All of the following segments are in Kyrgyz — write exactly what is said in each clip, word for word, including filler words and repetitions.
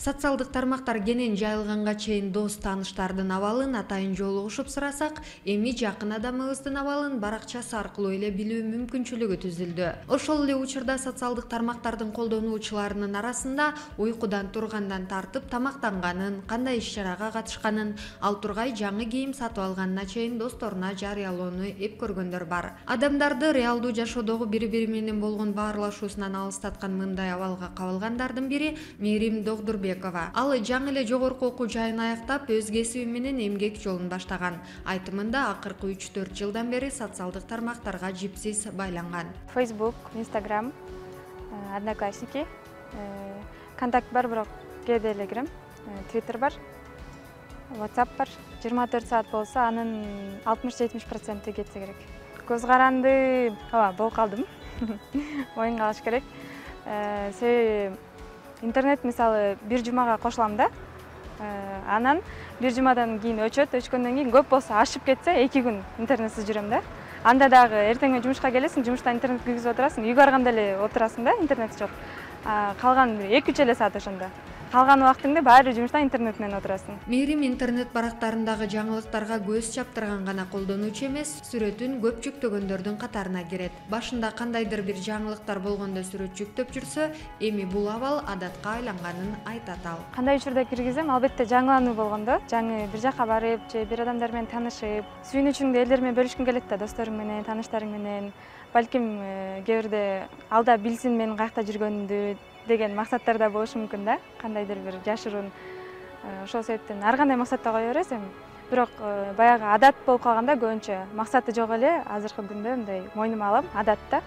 Социалдык тармактар кенен жайылганга чейин дос тааныштардын абалын атайын жолугушуп сурасак, эми жакын адамыбыздын абалын баракчасы аркылуу эле билүү мүмкүнчүлүгү түзүлдү. Ошол эле учурда социалдык тармактардын колдонуучуларынын арасында уйкудан тургандан тартып тамактанганын, кандай иш-чарага катышканын, ал тургай жаңы кийим сатып алганына чейин досторуна жарыялоону эп көргөндөр бар. Адамдарды реалдуу жашоодогу бири-бири менен болгон баарлашуусунан алыстаткан мындай абалга кабылгандардын бири Мээрим Догдурбекова. Ал жаңы эле жогорку окуу жайын аяктап, өз кесиби менен эмгек жолун баштаган. Айтымында акыркы үч төрт жылдан бери социалдык тармактарга жипсиз байланган. Facebook, Instagram, Одноклассники, Контакт бар, бирок кээде эле кирем. Twitter бар, WhatsApp бар. жыйырма төрт саат болсо, анын алтымыш жетимиш проценти кетсе керек. Көз каранды, ооба, болуп калдым. Моюнга алыш керек. Себеби интернет мисалы бир жумага кошулам да. Анан бир жумадан кийин өчөт, өчкөндөн кийин көп болсо ашып кетсе эки күн интернетсиз жүрөм да. Анда дагы эртең жумушка келесиң, жумуштан интернет киргизип отурасың, үйгө барганда эле отурасың да, интернет жок. Калган эки үч эле саат ошондо. Калган убактыңды баары жумуштан интернет менен отурасың. Мээрим интернет барактарындагы жаңылыктарга көз чаптырган гана колдонуучу эмес, сүрөтүн көп жүктөгөндөрдүн катарына кирет. Башында кандайдыр бир жаңылыктар болгондо сүрөт жүктөп жүрсө, эми бул абал адатка айланганын айтат ал. Кандай учурда киргизем, албетте жаңылануу болгондо, жаңы бир жака барып, же бир адамдар менен таанышып, сүйүнүчүңдү элдер менен бөлүшкүң келет да, досторуң менен, тааныштарың менен. Балким кээ бирде алда билсин мен каякта жүргөнүмдү деген максаттар да болушу мүмкүн да, кандайдыр бир жашыруун. Ошол себептен ар кандай максатта кое бересиз эми. Бирок баягы адат болуп калганда көбүнчө максаты жок эле азыркы күндө мындай мойнума алам, адатта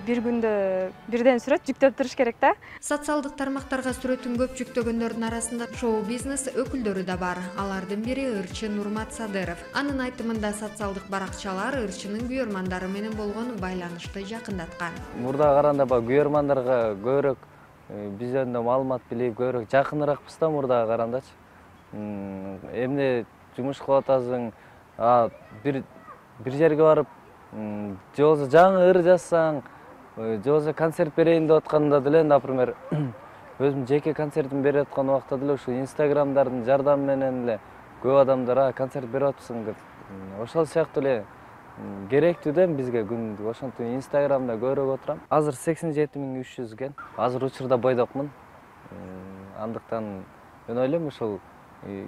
бир күндө бирден сүрөт жүктөп туруш керек да. Социалдык тармактарга сүрөтүн көп жүктөгөндөрдүн арасында шоу-бизнес өкүлдөрү да бар. Алардын бири Ырчы Нурмат Садыров. Анын айтымында социалдык баракчалар ырчынын күйөрмандары менен болгон байланышты жакындаткан. Мурдага караганда баягы күйөрмандарга көбүрөөк биз жөнүндө маалымат билип, көбүрөөк жакыныракпыз да мурдага карагандачы. Эмне жумуш кылып атасың, бир бир жерге барып, же болбосо жаңы ыр жазсаң, же болбосо концерт берейин деп атканда деле, например, өзүм жеке концертим берип аткан убакта деле ушу инстаграмдардын жардамы менен эле көп адамдар концерт берип атпсың деп. Ошол сыяктуу эле керектүү да бизге күндү. Ошентип инстаграмда көбүрөөк отурам. Азыр сексен жети миң үч жүз экен. Азыр учурда бойдокмун. Андыктан мен ойлойм ушул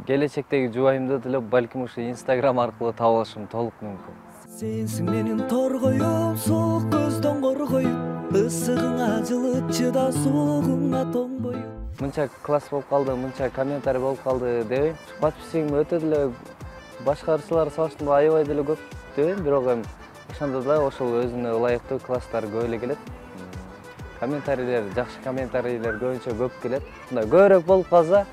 келечектеги жубайымды деле балким ушу инстаграм аркылуу таап алышым толук мүмкүн. Сенсиң менин торгоюм, суук көздөн коргоюп, ысыгыңа жылыт чыда, суугуңа тоңбоюп. Мынча класс болуп калды, мынча комментарий болуп калды дебейм. Подписчигим өтө деле башкачылар салыштырмалуу аябай деле көп дебейм, бирок эми ошондо да ошол өзүнө ылайыктуу класстар көп эле келет. Комментарийлер, жакшы комментарийлер көбүнчө көп келет. Мындай көбүрөөк болуп калса,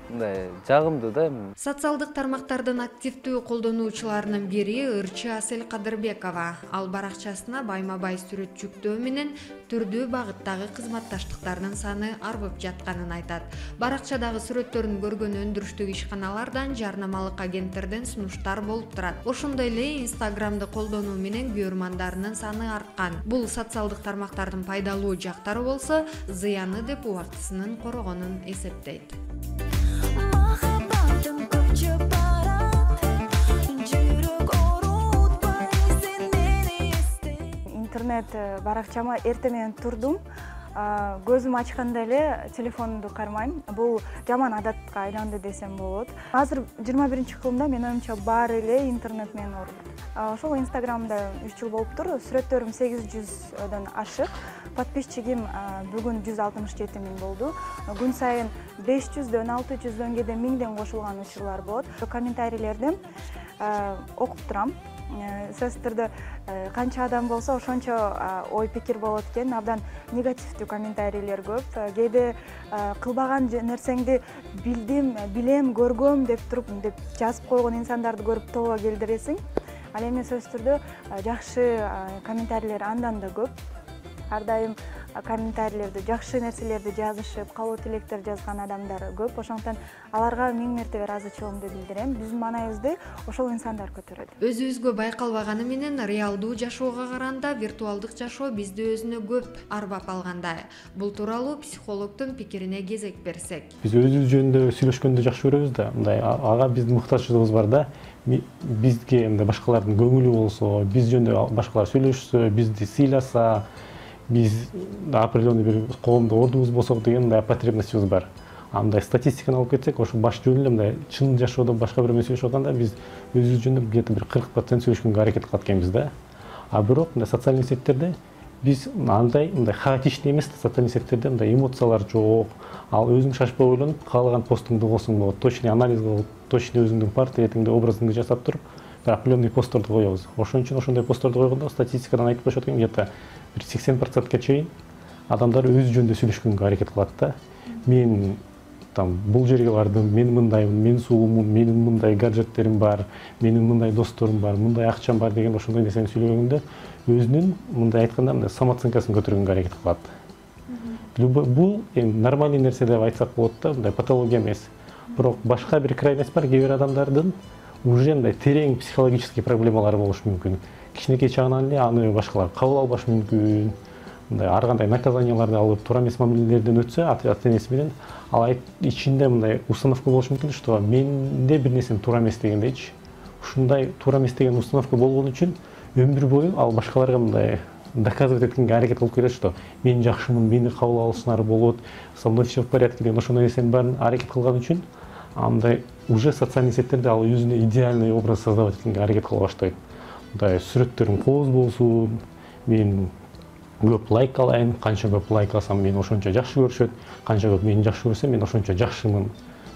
мындай жагымдуу да. Социалдык тармактардын активдүү колдонуучуларынын бири Ырчы Асель Кадырбекова. Ал баракчасына байма-бай сүрөт жүктөө менен түрдүү багыттагы кызматташтыктардын саны арбып жатканын айтат. Баракчадагы сүрөттөрүн көргөн өндүрүштүк ишканалардан, жарнамалык агенттерден сунуштар болуп турат. Ошондой эле Инстаграмды колдонуу менен күйөрмандарынын саны арткан. Бул социалдык тармактардын пайдалуу жактары болсо, зыяны деп убактысынын корогонун эсептейт. Интернет баракчама эртең менен турдум. Көзүм ачканда эле телефонду кармайм. Бул жаман адатка айланды десем болот. Азыр жыйырма биринчи кылымда мен оюмча баары эле интернет менен орут. Ошол Инстаграмда үч жыл болуптур. Сүрөттөрүм сегиз жүздөн ашык. Подписчигим бүгүн жүз алтымыш жети миң болду. Күн сайын беш жүздөн, алты жүздөн, кээде миңден кошулган учурлар болот. Комментарийлерди окуп турам. Сөзсүз түрдө канча адам болсо ошончо ой пикир болот экен. Абдан негативдүү комментарийлер көп. Кээде кылбаган нерсеңди билдим, билем, көргөм деп туруп деп жазып койгон инсандарды көрүп тобо келдиресиң. Ал эми сөзсүз түрдө жакшы комментарийлер андан да көп. ар дайым комментарийлерди, жакшы нерселерди жазышып, кабыл тилектер жазган адамдар көп. Ошондуктан аларга миң мертебе ыраазычылыгымды билдирем. Биздин маанайыбызды ошол инсандар көтөрөт. Өзүбүзгө байкалбаганы менен реалдуу жашоого караганда виртуалдык жашоо бизди өзүнө көп арбап алгандай. Бул тууралуу психологдун пикирине кезек берсек. Биз өзүбүз жөнүндө сүйлөшкөндү жакшы көрөбүз да. Мындай ага биздин муктажчылыгыбыз бар да. Бизге мындай башкалардын көңүлү болсо, биз жөнүндө башкалар сүйлөшсө, бизди сыйласа, биз определенный бир коомдо ордубуз болсок деген мындай потребностибиз бар. Андай статистиканы алып кетсек, ошо баш жүнү эле мындай чын жашоодо башка бирөө менен сүйлөшүп атканда биз өзүбүз жөнүндө где-то бир кырк процент сүйлөшкөнгө аракет кылат экенбиз да. А бирок мындай социалдык сеттерде биз андай мындай хаотичный эмес, социалдык сеттерде мындай эмоциялар жок. Ал өзүң шашпай ойлонуп, каалаган постуңду кылсаң болот. Точный анализ кылып, точный өзүңдүн портретиңди, образыңды жасап туруп, определенный посттарды коебуз. Ошон үчүн ошондой посттарды койгондо статистикадан айтып коюшат экен, где-то бир сексен процентке чейин адамдар өз жөнүндө сүйлөшкөнгө аракет кылат да. Мен там бул жерге бардым, мен мындаймын, мен сулуумун, менин мындай гаджеттерим бар, менин мындай досторум бар, мындай акчам бар деген ошондой нерсени сүйлөгөндө өзүнүн мындай айтканда мындай самооценкасын көтөргөнгө аракет кылат. Бул эми нормальный нерсе деп айтсак болот да, мындай патология эмес. Бирок башка бир крайность бар, кээ бир адамдардын уже мындай терең психологический проблемалары болушу мүмкүн. Кичинекей чагынан эле аны башкалар кабыл албашы мүмкүн. Мындай ар кандай наказанияларды алып, туура эмес мамилелерден өтсө, ата-энеси менен ал ичинде мындай установка болушу мүмкүн, что менде бир нерсем туура эмес дегендейчи. Ушундай туура эмес деген установка болгон үчүн өмүр бою ал башкаларга мындай доказывать эткенге аракет кылып келет, что мен жакшымын, мени кабыл алышыңар болот, со мной все в порядке деген ошондой нерсенин баарын аракет кылган үчүн андай уже социалдык сеттерде ал өзүнө идеальный образ создавать эткенге аракет кыла баштайт. Мындай сүрөттөрүм поз болсун, мен көп лайк алайын, канча көп лайк алсам мени ошончо жакшы көрүшөт, канча көп мени жакшы көрсө мен ошончо жакшымын.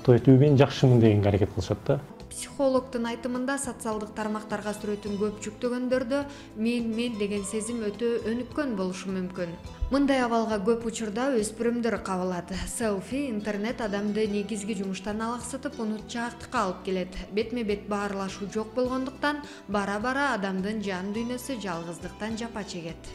То есть мен жакшымын дегенге аракет кылышат да. Психологдун айтымында социалдык тармактарга сүрөтүн көп жүктөгөндөрдө мен мен деген сезим өтө өнүккөн болушу мүмкүн. Мындай абалга көп учурда өспүрүмдөр кабылат. Селфи интернет адамды негизги жумуштан алаксытып, унутчаактыкка алып келет. Бетме-бет баарлашуу жок болгондуктан бара-бара адамдын жан дүйнөсү жалгыздыктан жапа чегет.